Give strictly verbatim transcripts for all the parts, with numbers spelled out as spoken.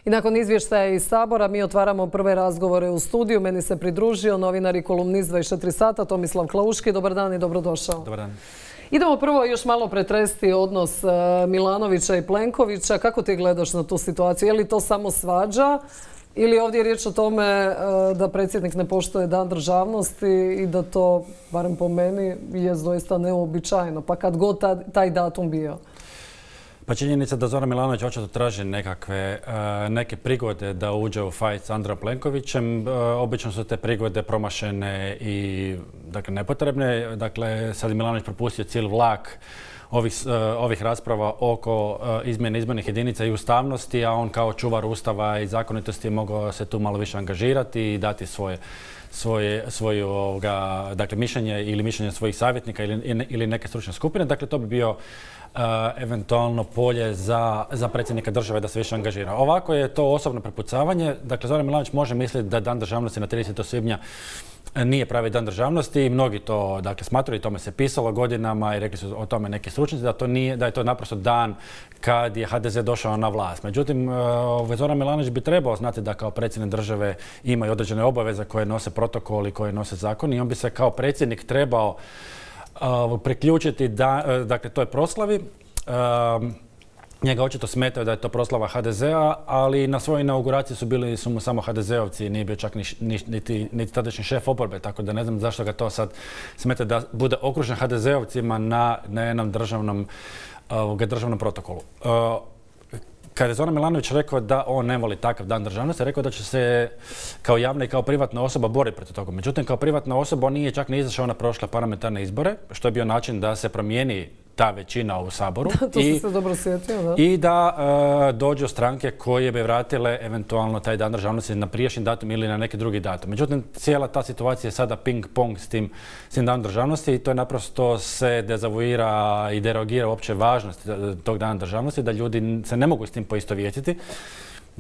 I nakon izvještaja iz Sabora mi otvaramo prve razgovore u studiju. Meni se pridružio novinar i kolumnist dvadeset četiri sata Tomislav Klauški. Dobar dan i dobrodošao. Dobar dan. Idemo prvo još malo pretresti odnos Milanovića i Plenkovića. Kako ti gledaš na tu situaciju? Je li to samo svađa ili ovdje je riječ o tome da predsjednik ne poštuje Dan državnosti i da to, barem po meni, je doista neuobičajeno, pa kad god taj datum bio? Pa činjenica da Zoran Milanović očito traži nekakve, neke prigode da uđe u fight s Andrejom Plenkovićem. Obično su te prigode promašene i dakle, nepotrebne. Dakle, sad je Milanović propustio cijeli vlak ovih, ovih rasprava oko izmjene izbornih jedinica i ustavnosti, a on kao čuvar ustava i zakonitosti je mogao se tu malo više angažirati i dati svoje svoje, svoje ovoga, dakle, mišljenje ili mišljenje svojih savjetnika ili, ili neke stručne skupine. Dakle, to bi bio Uh, eventualno polje za, za predsjednika države da se više angažira. Ovako je to osobno prepucavanje. Dakle, Zoran Milanović može misliti da Dan državnosti na tridesetog svibnja nije pravi Dan državnosti i mnogi to dakle, smatraju i tome se pisalo godinama i rekli su o tome neki stručnjaci da, to nije, da je to naprosto dan kad je H D Z došao na vlast. Međutim, uh, Zoran Milanović bi trebao znati da kao predsjednik države ima i određene obaveze koje nose protokol i koje nose zakon i on bi se kao predsjednik trebao Uh, priključiti da, uh, dakle, toj proslavi. Uh, njega očito smetaju da je to proslava H D Z-a, ali na svojoj inauguraciji su bili su mu samo H D Z-ovci, nije bio čak ni, ni, niti, niti tadašnji šef oporbe, tako da ne znam zašto ga to sad smeta da bude okružen H D Z-ovcima na, na jednom državnom, uh, državnom protokolu. Uh, Kad je Zoran Milanović rekao da on ne voli takav Dan državnosti, rekao da će se kao javna i kao privatna osoba boriti protiv toga. Međutim, kao privatna osoba on nije čak ni izašao na prošle parlamentarne izbore, što je bio način da se promijeni ta većina u Saboru. To I, se dobro sjetio, da. I da uh, dođu stranke koje bi vratile eventualno taj Dan državnosti na prijašnji datum ili na neki drugi datum. Međutim, cijela ta situacija je sada ping-pong s tim, s tim Danom državnosti i to je naprosto se dezavuira i derogira uopće važnost tog Dana državnosti, da ljudi se ne mogu s tim poistovjetiti,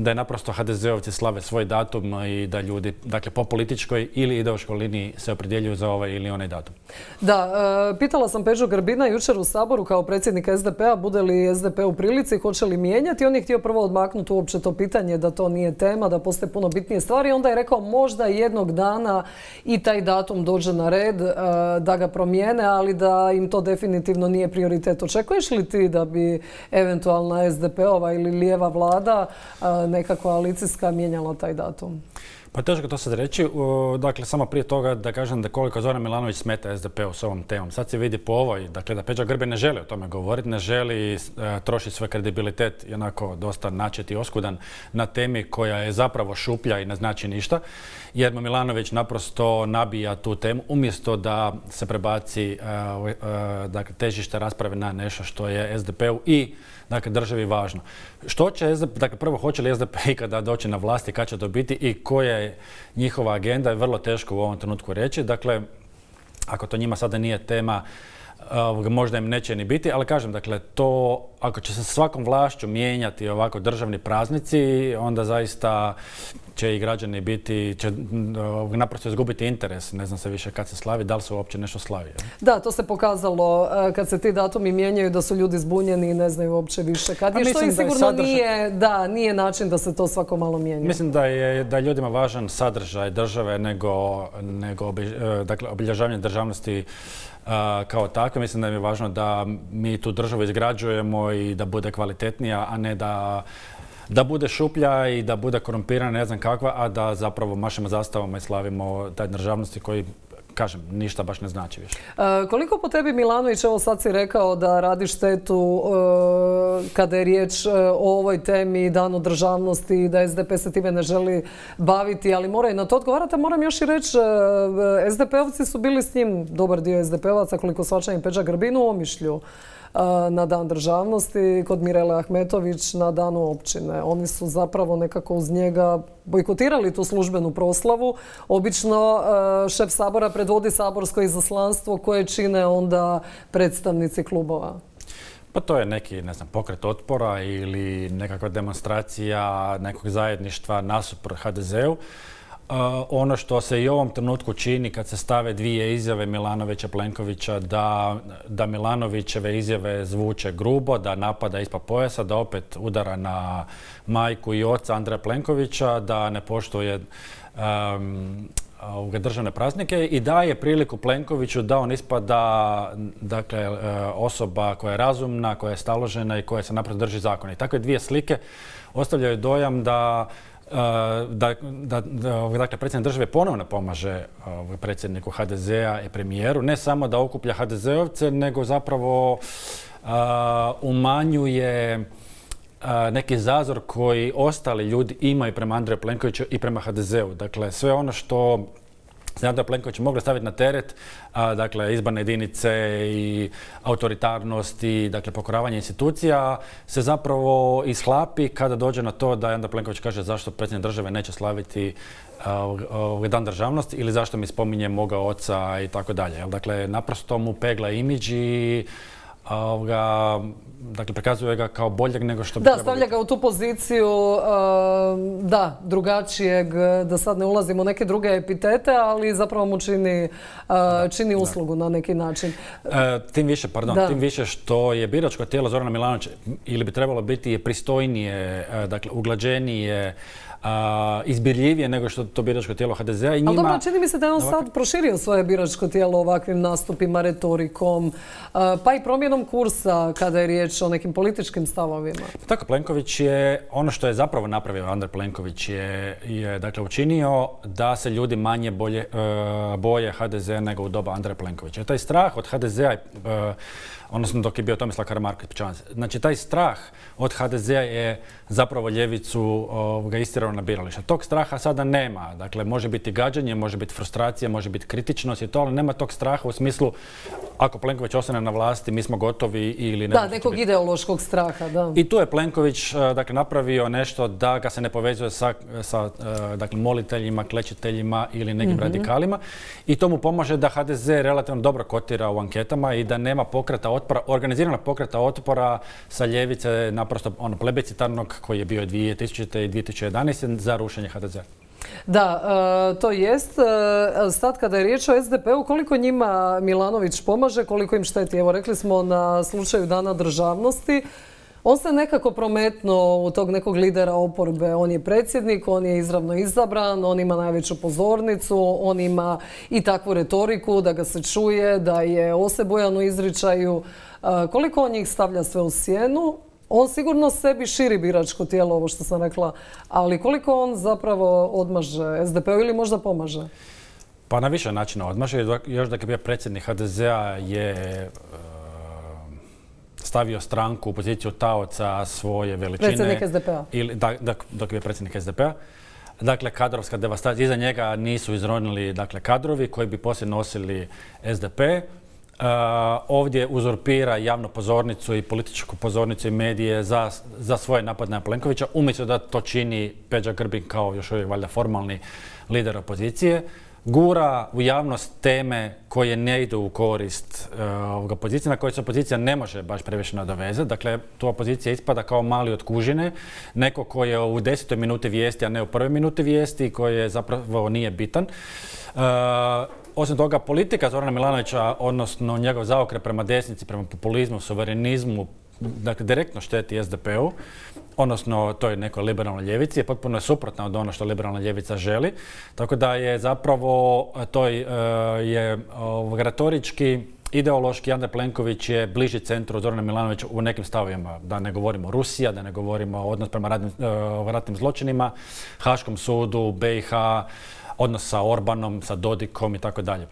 da je naprosto H D Z-ovci slave svoj datum i da ljudi, dakle, po političkoj ili ideološkoj liniji se opredjeljuju za ovaj ili onaj datum. Da, e, pitala sam Peđu Grbina jučer u Saboru kao predsjednik S D P-a, bude li S D P u prilici, hoće li mijenjati. On je htio prvo odmaknuti uopće to pitanje da to nije tema, da postoje puno bitnije stvari. Onda je rekao možda jednog dana i taj datum dođe na red, e, da ga promijene, ali da im to definitivno nije prioritet. Očekuješ li ti da bi eventualna S D P-ova ili lijeva vlada e, neka koalicijska mijenjala taj datum? Pa teško to sad reći. Dakle, samo prije toga da kažem da koliko Zoran Milanović smeta S D P-u s ovom temom. Sad se vidi po ovoj, dakle, da Peđa Grbin ne želi o tome govoriti, ne želi e, trošiti svoj kredibilitet i onako dosta načeti oskudan na temi koja je zapravo šuplja i ne znači ništa. Jer mu Milanović naprosto nabija tu temu umjesto da se prebaci e, e, dakle, težište rasprave na nešto što je S D P-u i dakle, državi važno. Što će S D P, dakle, prvo hoće li S D P ikada doći na vlast i kad će to biti i koja je njihova agenda je vrlo teško u ovom trenutku reći. Dakle, ako to njima sada nije tema, možda im neće ni biti, ali kažem, dakle, to ako će se svakom vlašću mijenjati ovako državni praznici, onda zaista će i građani biti, će naprosto izgubiti interes. Ne znam se više kad se slavi, da li se uopće nešto slavi. Da, to se pokazalo kad se ti datumi mijenjaju da su ljudi zbunjeni i ne znaju uopće više kad je, što im sigurno sadržaj... nije, da, nije način da se to svako malo mijenja. Mislim da je da je ljudima važan sadržaj države nego, nego dakle, obilježavanje državnosti Uh, kao takve. Mislim da je važno da mi tu državu izgrađujemo i da bude kvalitetnija, a ne da, da bude šuplja i da bude korumpirana, ne znam kakva, a da zapravo mašemo zastavama i slavimo taj državnosti koji, kažem, ništa baš ne znači više. E, koliko po tebi, Milanović, evo sad si rekao da radi štetu e, kada je riječ e, o ovoj temi Danu državnosti i da S D P se time ne želi baviti, ali mora i na to odgovarati. Moram još i reći, e, S D P-ovci su bili s njim, dobar dio S D P-ovaca, koliko svačam i Peđa Grbin u Omišlju na Dan državnosti, kod Mirele Ahmetović na Danu općine. Oni su zapravo nekako uz njega bojkotirali tu službenu proslavu. Obično šef Sabora predvodi saborsko izaslanstvo koje čine onda predstavnici klubova. Pa to je neki, ne znam, pokret otpora ili nekakva demonstracija nekog zajedništva nasuprot H D Z-u. ono što se i u ovom trenutku čini kad se stave dvije izjave Milanovića, Plenkovića, da, da Milanovićeve izjave zvuče grubo, da napada ispod pojasa, da opet udara na majku i oca Andreja Plenkovića, da ne poštuje um, državne praznike i daje priliku Plenkoviću da on ispada dakle, osoba koja je razumna, koja je staložena i koja se naprosto drži zakona. I takve dvije slike ostavljaju dojam da Da, da, da dakle, predsjednik države ponovno pomaže uh, predsjedniku ha de zea i premijeru, ne samo da okuplja ha de zeovce, nego zapravo uh, umanjuje uh, neki zazor koji ostali ljudi imaju prema Andreju Plenkoviću i prema ha de zeu. Dakle, sve ono što se Andreja Plenkovića mogli staviti na teret, a, dakle, izborne jedinice i autoritarnost i dakle, pokoravanje institucija, se zapravo ishlapi kada dođe na to da Andrej Plenković kaže zašto predsjednik države neće slaviti ovaj dan državnosti ili zašto mi spominje moga oca i tako dalje. Dakle, naprosto mu pegla imidž i Ovoga, dakle, prikazuje ga kao boljeg nego što bi da, trebalo stavlja biti. ga u tu poziciju, uh, da, drugačijeg, da sad ne ulazimo u neke druge epitete, ali zapravo mu čini, uh, da, čini uslugu da. na neki način. Uh, tim više, pardon, da. tim više što je biračko tijelo Zorana Milanovića, ili bi trebalo biti je pristojnije, uh, dakle, uglađenije, Uh, izbirljivije nego što to biračko tijelo ha de zea i njima... Ali dobro, čini mi se da je on ovak... sad proširio svoje biračko tijelo ovakvim nastupima, retorikom, uh, pa i promjenom kursa kada je riječ o nekim političkim stavovima. Tako, Plenković je, ono što je zapravo napravio Andrej Plenković je, je dakle, učinio da se ljudi manje bolje, uh, boje ha de zea nego u doba Andreja Plenkovića. Taj strah od ha de zea, uh, odnosno dok je bio Tomislav Karamarko, znači taj strah od ha de zea je zapravo ljevicu uh, ga istirao na birališta. Tog straha sada nema. Dakle, može biti gađanje, može biti frustracija, može biti kritičnost i to, ali nema tog straha u smislu ako Plenković ostane na vlasti, mi smo gotovi ili ne. Da, nekog biti. ideološkog straha, da. I tu je Plenković dakle, napravio nešto da ga se ne povezuje sa, sa dakle, moliteljima, klečiteljima ili nekim mm-hmm. radikalima i to mu pomaže da ha de ze relativno dobro kotira u anketama i da nema pokreta otpora, organiziranog pokreta otpora sa ljevice, naprosto ono, plebiscitarnog koji je bio dvije tisućite i dvije tisuće jedanaeste za rušenje ha de zea. Da, e, to jest. E, sad kada je riječ o es de pe-u, koliko njima Milanović pomaže, koliko im šteti? Evo, rekli smo na slučaju Dana državnosti. On se nekako prometnuo u tog nekog lidera oporbe. On je predsjednik, on je izravno izabran, on ima najveću pozornicu, on ima i takvu retoriku da ga se čuje, da je osebujan u izričaju. E, koliko on njih stavlja sve u sjenu? On sigurno sebi širi biračko tijelo, ovo što sam rekla, ali koliko on zapravo odmaže es de pe-u ili možda pomaže? Pa na više načina odmaže. Još dok je bio predsjednik ha de zea je uh, stavio stranku u poziciju taoca svoje veličine. Predsjednik es de pe-a? Ili, da, dok je bio predsjednik es de pe-a. Dakle, kadrovska devastacija. Iza njega nisu izronili dakle, kadrovi koji bi poslije nosili es de pe. Uh, ovdje uzurpira javnu pozornicu i političku pozornicu i medije za, za svoje napade na Plenkovića, umjesto da to čini Peđa Grbin kao još uvijek valjda formalni lider opozicije. Gura u javnost teme koje ne idu u korist uh, opozicije, na koje se opozicija ne može baš previše nadovezati. Dakle, tu opozicija ispada kao mali od kužine, neko koji je u desetoj minuti vijesti, a ne u prvoj minuti vijesti, koji zapravo nije bitan. Uh, Osim toga, politika Zorana Milanovića, odnosno njegov zaokret prema desnici, prema populizmu, suverenizmu, dakle, direktno šteti es de pe-u, odnosno toj nekoj liberalnoj ljevici, je potpuno je suprotna od ono što liberalna ljevica želi. Tako da je zapravo toj je retorički, ideološki Andrej Plenković je bliži centru Zorana Milanovića u nekim stavovima. Da ne govorimo Rusija, da ne govorimo odnos prema ratnim, ratnim zločinima, Haškom sudu, be i ha, odnos sa Orbanom, sa Dodikom i tako dalje.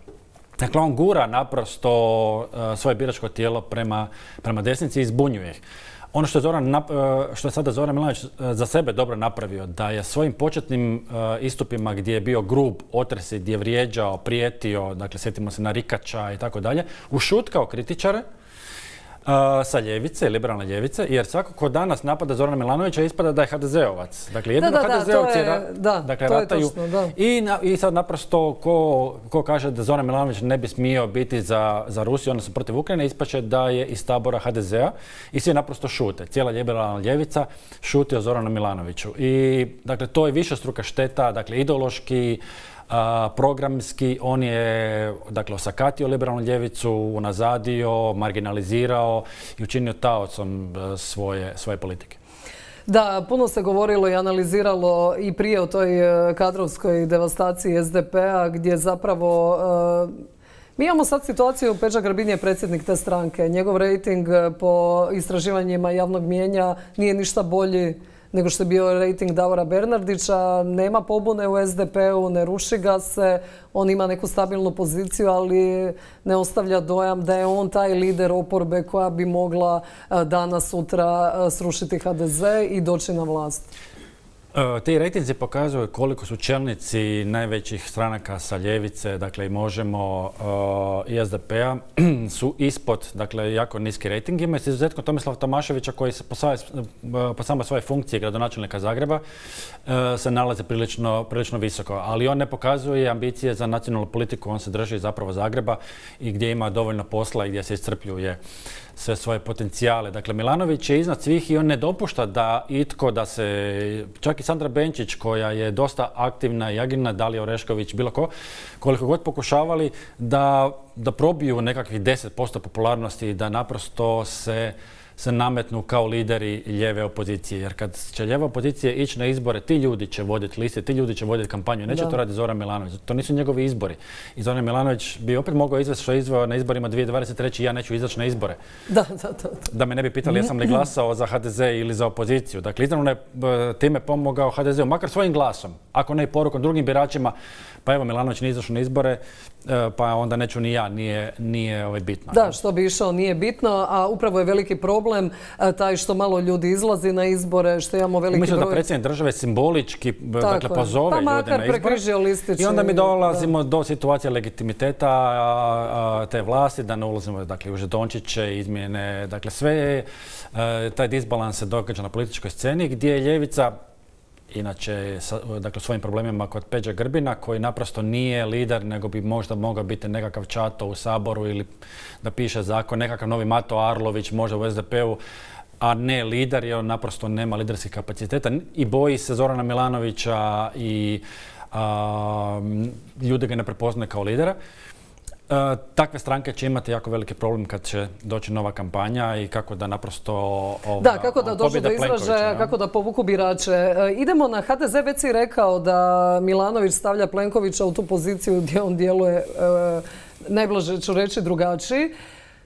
Dakle, on gura naprosto uh, svoje biračko tijelo prema, prema desnici i zbunjuje ih. Ono što je, Zoran, uh, što je sada Zoran Milanović uh, za sebe dobro napravio, da je svojim početnim uh, istupima gdje je bio grub, otresi, gdje je vrijeđao, prijetio, dakle, sjetimo se na Rikača i tako dalje, ušutkao kritičare, sa ljevice, liberalne ljevice, jer svako ko danas napada Zorana Milanovića ispada da je ha de zeovac. Dakle, jedino da, da, ha de zeovci je, da, dakle, to je rataju. točno, da. I, na, I sad naprosto ko, ko kaže da Zoran Milanović ne bi smio biti za, za Rusiju, odnosno protiv Ukrajine, ispaće da je iz tabora ha de zea i svi naprosto šute. Cijela liberalna ljevica šuti o Zoranu Milanoviću. I dakle, to je višestruka šteta, dakle, ideološki, A, programski, on je dakle, osakatio liberalnu ljevicu, unazadio, marginalizirao i učinio taocom svoje, svoje politike. Da, puno se govorilo i analiziralo i prije o toj kadrovskoj devastaciji es de pe-a gdje zapravo uh, mi imamo sad situaciju, Peđa Grbin je predsjednik te stranke. Njegov rejting po istraživanjima javnog mijenja nije ništa bolji nego što je bio rejting Davora Bernardića. Nema pobune u es de pe-u, ne ruši ga se. On ima neku stabilnu poziciju, ali ne ostavlja dojam da je on taj lider oporbe koja bi mogla danas, sutra srušiti ha de ze i doći na vlast. Ti rejtinzi pokazuju koliko su čelnici najvećih stranaka sa ljevice, dakle i Možemo i es de pe-a, su ispod, dakle, jako niski rejtingima. S izuzetkom Tomislava Tomaševića koji se po, svoje, po samoj svoje funkcije gradonačelnika Zagreba se nalaze prilično, prilično visoko. Ali on ne pokazuje ambicije za nacionalnu politiku, on se drži zapravo Zagreba i gdje ima dovoljno posla i gdje se iscrpljuje sve svoje potencijale. Dakle, Milanović je iznad svih i on ne dopušta da itko, da se, čak i Sandra Benčić koja je dosta aktivna i agilna, Dalija Orešković, bilo ko, koliko god pokušavali da, da probiju nekakvih deset posto popularnosti i da naprosto se se nametnu kao lideri lijeve opozicije. Jer kad će lijeva opozicija ići na izbore, ti ljudi će voditi liste, ti ljudi će voditi kampanju. Neće da. to raditi Zoran Milanović. To nisu njegovi izbori. I Zoran Milanović bi opet mogao izvesti što je izveo na izborima dvije tisuće dvadeset treće. Ja neću izaći na izbore. Da, da, da. Da me ne bi pitali jesam li glasao za ha de ze ili za opoziciju. Dakle, izravno je time pomogao ha de zeu, makar svojim glasom. Ako ne i porukom drugim biračima, pa evo Milanović nije izašao na izbore, pa onda neću ni ja, nije, nije ovaj bitno. Da, što bi išao nije bitno, a upravo je veliki problem taj što malo ljudi izlazi na izbore, što imamo veliki Mislim broj... da predsjednik države simbolički dakle, pozove pa, ljude na izbore listiće, i onda mi dolazimo da. do situacije legitimiteta a, a, te vlasti, da ne ulazimo dakle, u žetončiće, izmjene, dakle sve taj disbalans se događa na političkoj sceni gdje je ljevica inače, dakle, svojim problemima kod Peđe Grbina, koji naprosto nije lider, nego bi možda mogao biti nekakav čato u Saboru ili da piše zakon, nekakav novi Mato Arlović, možda u es de pe-u, a ne lider, jer on naprosto nema liderskih kapaciteta i boji se Zorana Milanovića i a, ljudi ga ne prepoznaju kao lidera. E, takve stranke će imati jako veliki problem kad će doći nova kampanja i kako da naprosto ova, da, kako da dođu do izražaja, kako da povuku birače. E, idemo na ha de ze, već si rekao da Milanović stavlja Plenkovića u tu poziciju gdje on djeluje, e, najblaže ću reći, drugačiji.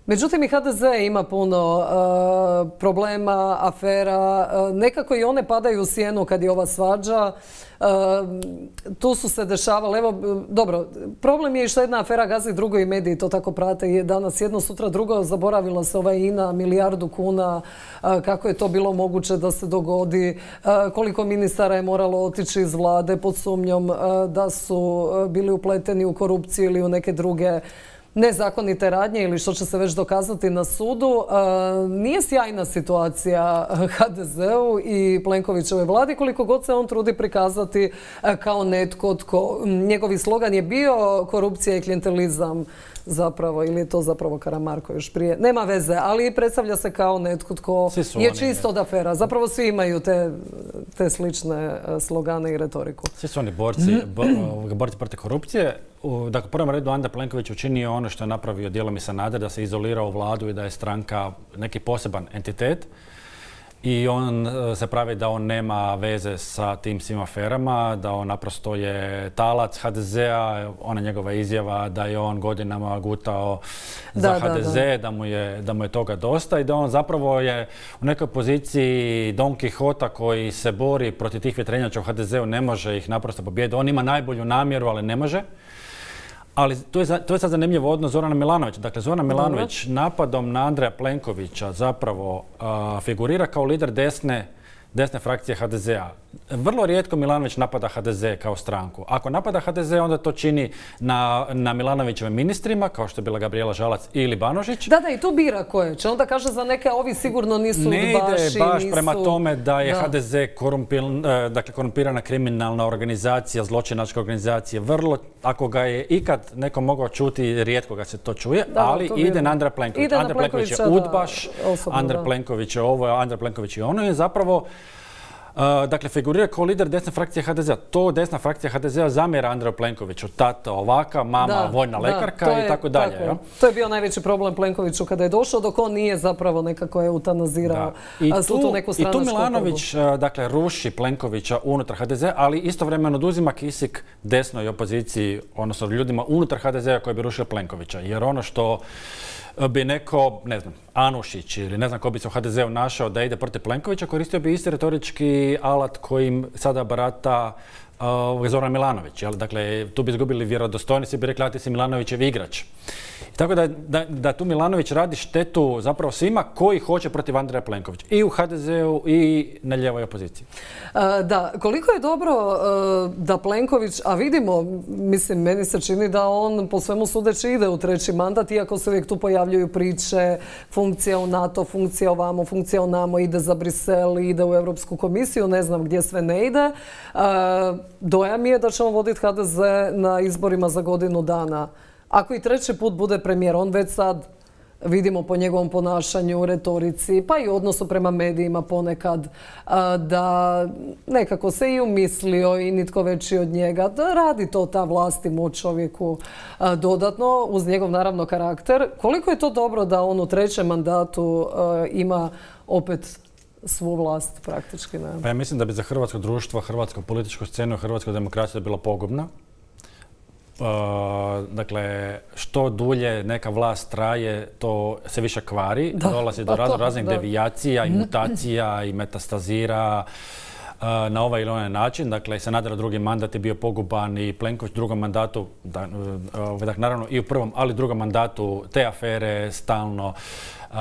Međutim, i ha de ze ima puno uh, problema, afera. Uh, nekako i one padaju u sjenu kad je ova svađa. Uh, tu su se dešavale. Evo, dobro, problem je i što jedna afera gazi drugo i mediji to tako prate. Je danas jedno, sutra drugo. Zaboravila se ova I N A, milijardu kuna. Uh, kako je to bilo moguće da se dogodi? Uh, koliko ministara je moralo otići iz vlade pod sumnjom uh, da su uh, bili upleteni u korupciju ili u neke druge nezakonite radnje ili što će se već dokazati na sudu. Nije sjajna situacija ha de zeu i Plenkovićeve vladi koliko god se on trudi prikazati kao netko tko... Njegovi slogan je bio korupcija i klijentelizam zapravo, ili je to zapravo Karamarko još prije. Nema veze, ali predstavlja se kao netko tko je čist od afera. Zapravo svi imaju te, te slične slogane i retoriku. Svi su oni borci, bo, borci protiv korupcije. U, dakle, u prvom redu Andrej Plenković učinio ono što je napravio dijelom i Sanader, da se izolirao vladu i da je stranka neki poseban entitet. I on se pravi da on nema veze sa tim svim aferama, da on naprosto je talac ha de zea, ona njegova izjava da je on godinama gutao za da, ha de ze, da, da. Da, mu je, da mu je toga dosta i da on zapravo je u nekoj poziciji Don Quixota koji se bori protiv tih vjetrenjača u ha de zeu, ne može ih naprosto pobijediti. On ima najbolju namjeru, ali ne može. Ali to je, to je sad zanimljivo odnos Zorana Milanovića. Dakle, Zoran Milanović napadom na Andreja Plenkovića zapravo uh, figurira kao lider desne desne frakcije ha de zea. Vrlo rijetko Milanović napada ha de ze kao stranku. Ako napada ha de ze, onda to čini na, na Milanovićevim ministrima, kao što je bila Gabrijela Žalac ili Banožić. Da, da, i tu bira koje će. Onda kaže za neke ovi sigurno nisu udbaši. Ne ide baš nisu... prema tome da je da. ha de ze korumpil, dakle, korumpirana kriminalna organizacija, zločinačka organizacija. Vrlo, ako ga je ikad neko mogao čuti, rijetko ga se to čuje, da, ali to ide vjerujem. na Andreja Plenkovića. Ide na Andrej Plenković je Plenkovića, udbaš, da, osobno, Andrej da. Plenković je ovo, Andrej Plenković je ono, je zapravo Uh, dakle, figurira kao lider desne frakcije ha de zea. To desna frakcija ha de zea zamjera Andreju Plenkoviću. Tata ovaka, mama da, vojna da, lekarka je, i tako dalje. Tako ja? To je bio najveći problem Plenkoviću kada je došao, dok on nije zapravo nekako eutanazirao tu, tu neku stranačku. I tu Milanović uh, dakle, ruši Plenkovića unutar ha de zea, ali istovremeno oduzima kisik desnoj opoziciji, odnosno ljudima unutar ha de zea koji bi rušili Plenkovića. Jer ono što bi neko, ne znam, Anušić ili ne znam ko bi se u ha de zeu našao da ide protiv Plenkovića, koristio bi isti retorički alat kojim sada barata uh, Zoran Milanović. Jel? Dakle, tu bi izgubili vjerodostojnost i bi rekli, a ti si Milanovićev igrač. Tako da, da, da tu Milanović radi štetu zapravo svima koji hoće protiv Andreja Plenkovića. I u ha de zeu i na ljevoj opoziciji. Uh, da, koliko je dobro uh, da Plenković, a vidimo, mislim, meni se čini da on po svemu sudeći ide u treći mandat, iako se uvijek tu pojavljuju priče, funkcija u NATO, funkcija ovamo, funkcija onamo, ide za Brisel, ide u Europsku komisiju, ne znam gdje sve ne ide. Uh, dojam je da će on voditi ha de ze na izborima za godinu dana. Ako i treći put bude premijer, on već sad vidimo po njegovom ponašanju, retorici, pa i odnosu prema medijima ponekad, da nekako se i umislio i nitko veći od njega, da radi to ta vlast i moć čovjeku dodatno, uz njegov naravno karakter. Koliko je to dobro da on u trećem mandatu ima opet svu vlast praktički? Ne? Pa ja mislim da bi za hrvatsko društvo, hrvatsku političku scenu i hrvatsku demokraciju bila pogubna. Uh, dakle, što dulje neka vlast traje, to se više kvari, da, dolazi do razno raznih da. devijacija i mutacija i metastazira uh, na ovaj ili onaj način. Dakle, Sanaderov drugi mandat je bio poguban i Plenković u drugom mandatu, da, uh, dakle, naravno i u prvom, ali u drugom mandatu te afere stalno. Uh, uh,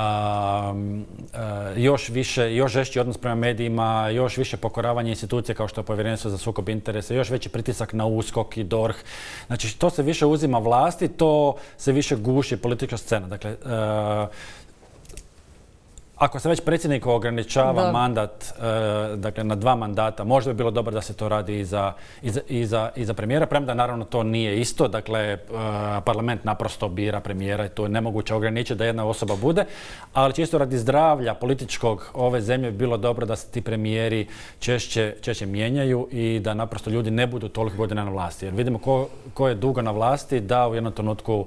još više, još žešći odnos prema medijima, još više pokoravanje institucija kao što je Povjerenstvo za sukob interesa, još veći pritisak na USKOK i DORH. Znači, to se više uzima vlasti, to se više guši politička scena. Dakle, uh, ako se već predsjedniku ograničava da. mandat e, dakle, na dva mandata, možda bi bilo dobro da se to radi i za, i za, i za, i za premijera, premda naravno to nije isto. Dakle, e, parlament naprosto bira premijera i to je nemoguće ograničiti da jedna osoba bude, ali čisto radi zdravlja političkog ove zemlje bi bilo dobro da se ti premijeri češće, češće mijenjaju i da naprosto ljudi ne budu toliko godina na vlasti. Jer vidimo ko, ko je dugo na vlasti, da u jednom trenutku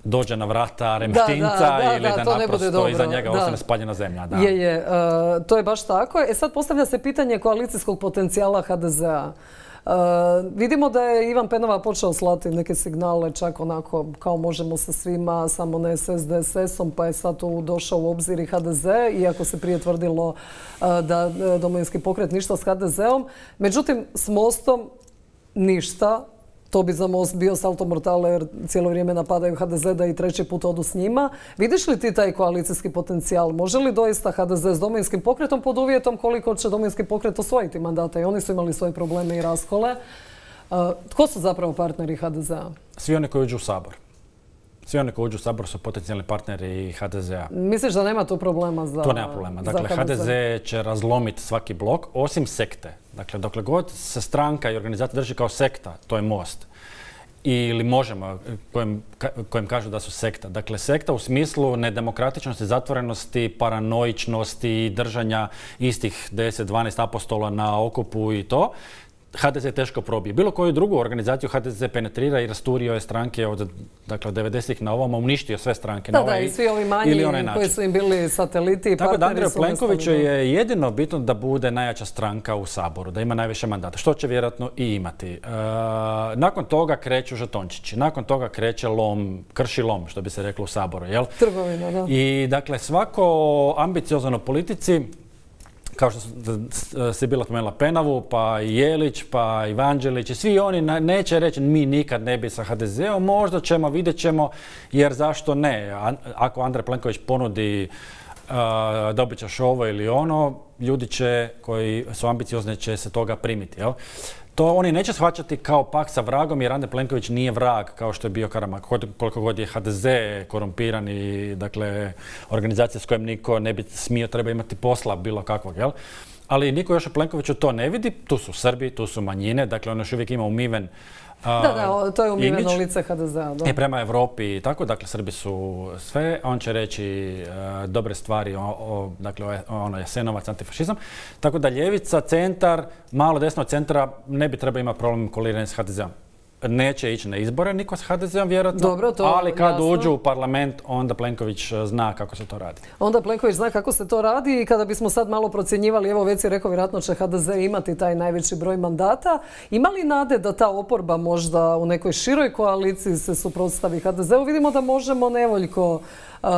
dođe na vrata Remštinca da, da, da, ili da, da naprosto iza njega ostane spaljena zemlja. Da. Je, je. Uh, to je baš tako. E sad postavlja se pitanje koalicijskog potencijala ha de zea. Uh, vidimo da je Ivan Penava počeo slati neke signale, čak onako kao možemo sa svima, samo ne s es de es esom, pa je sad tu došao u obzir i ha de ze, iako se prije tvrdilo uh, da Domovinski pokret ništa s ha de zeom. Međutim, s Mostom ništa. To bi za Most bio salto mortale jer cijelo vrijeme napadaju ha de ze da i treći put odu s njima. Vidiš li ti taj koalicijski potencijal? Može li doista ha de ze s Domovinskim pokretom pod uvjetom koliko će Domovinski pokret osvojiti mandata? I oni su imali svoje probleme i raskole. Uh, tko su zapravo partneri ha de zea? Svi oni koji uđu u Sabor. Svi oni koji uđu u Sabor su potencijalni partneri ha de zea. Misliš da nema tu problema za To nema problema. Dakle, ha de ze će razlomiti svaki blok, osim sekte. Dakle, dokle god se stranka i organizacija drži kao sekta, to je Most. Ili Možemo, kojem, kojem kažu da su sekta. Dakle, sekta u smislu nedemokratičnosti, zatvorenosti, paranoičnosti, držanja istih deset dvanaest apostola na okupu i to. ha de ze teško probije. Bilo koju drugu organizaciju ha de ze penetrira i rasturio je stranke od dakle, devedesetih na ovamo, uništio sve stranke da, na ovaj da, i svi ovi manji koji su im bili sateliti i Tako partneri. Tako da Andreju Plenkoviću je jedino bitno da bude najjača stranka u Saboru, da ima najviše mandata, što će vjerojatno i imati. E, nakon toga kreću žetončići, nakon toga kreće lom, krši lom, što bi se reklo u Saboru, jel? Trgovina, da. I dakle, svako ambiciozan u politici, kao što si bila spomenula Penavu, pa i Jelić, pa i Vanđelić i svi oni neće reći mi nikad ne bi sa ha de zeom, možda ćemo, vidjet ćemo, jer zašto ne? Ako Andrej Plenković ponudi dobit ćeš ovo ili ono, ljudi će, koji su ambiciozni, će se toga primiti. Jel? To oni neće shvaćati kao pak sa vragom, jer Andrej Plenković nije vrag kao što je bio Karamarko. Koliko god je ha de ze korumpiran i dakle, organizacija s kojom niko ne bi smio, treba imati posla bilo kakvog. Jel? Ali niko još u Plenkoviću to ne vidi. Tu su Srbi, tu su manjine, dakle on još uvijek ima umiven Da, da, to je umiveno lice ha de zea. I prema Evropi i tako, dakle Srbi su sve, on će reći uh, dobre stvari, o, o, dakle ono Jasenovac, antifašizam. Tako da ljevica, centar, malo desno od centra ne bi trebao imati problem koliranja s ha de zeom. Neće ići na izbore niko s ha de zeom vjerojatno, Dobro, to ali kad jasno. uđu u parlament onda Plenković zna kako se to radi. Onda Plenković zna kako se to radi i kada bismo sad malo procjenjivali, evo već si rekao, vjerojatno će ha de ze imati taj najveći broj mandata. Ima li nade da ta oporba možda u nekoj široj koaliciji se suprotstavi ha de zeu? Vidimo da možemo nevoljko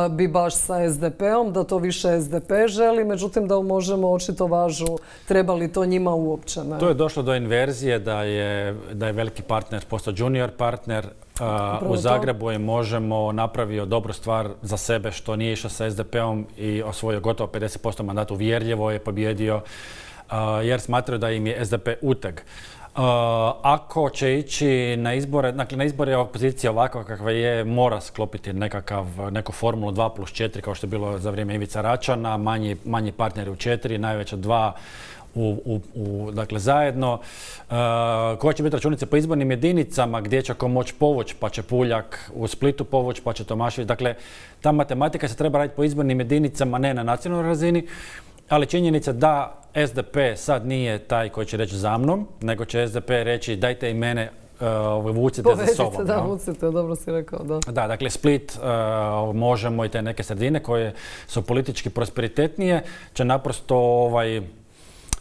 bi baš sa es de peom, da to više es de pe želi, međutim da možemo očito važu, treba li to njima uopće. Ne? To je došlo do inverzije da je, da je veliki partner postao junior partner. Uh, u Zagrebu je Možemo napravio dobru stvar za sebe što nije išao sa es de peom i osvojio gotovo pedeset posto mandata, uvjerljivo je pobjedio uh, jer smatraju da im je es de pe uteg. Uh, ako će ići na izbore, dakle na izbore opozicija ovakva kakva je, mora sklopiti nekakav, neku formulu dva plus četiri kao što je bilo za vrijeme Ivica Račana, manji, manji partneri u četiri, najveća dva u, u, u, dakle zajedno. Uh, koja će biti računice po izbornim jedinicama, gdje će ko moći povući, pa će Puljak u Splitu povući, pa će Tomašević. Dakle, ta matematika se treba raditi po izbornim jedinicama, ne na nacionalnoj razini. Ali činjenica da es de pe sad nije taj koji će reći za mnom, nego će es de pe reći dajte i mene uh, vucite Povedite, za sobom. Da, no? vucite, dobro si rekao, da. Da, dakle Split, uh, Možemo i te neke sredine koje su politički prosperitetnije će naprosto ovaj,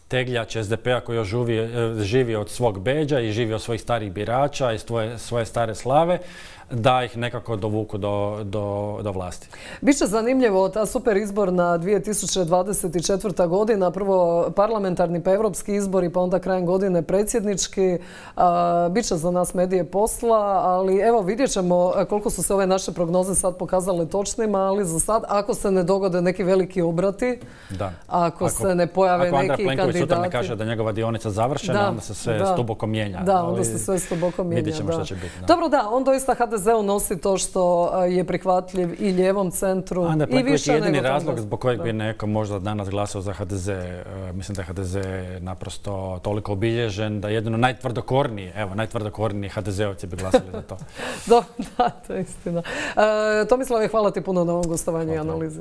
tegljač es de pea koji još živi, živi od svog bedža i živi od svojih starih birača i svoje, svoje stare slave, da ih nekako dovuku do, do, do vlasti. Biće zanimljivo ta super izborna dvije tisuće dvadeset četvrta godina, prvo parlamentarni pa evropski izbori, pa onda krajem godine predsjednički. Biće za nas medije posla, ali evo vidjet ćemo koliko su se ove naše prognoze sad pokazale točnima, ali za sad, ako se ne dogode neki veliki obrati, da. ako, ako se ne pojave neki kandidati... Ako Andrej Plenković sutra ne kaže da je njegova dionica završena, da, onda se sve da. stuboko mijenja. Da, onda se sve stuboko mijenja. Vidjet ćemo da. što će biti. Da. Dobro, da, on doista ha de zeu nosi to što je prihvatljiv i lijevom centru Andrej i Plenković više je jedini nego razlog tamo. zbog kojeg da. bi neko možda danas glasao za ha de ze. Uh, mislim da je ha de ze naprosto toliko obilježen da jedino najtvrdokorniji, evo, najtvrdokorniji ha de zeovci bi glasali za to. Do, da, to je istina. Uh, Tomislave, hvala ti puno na ovom gostovanju i analizi.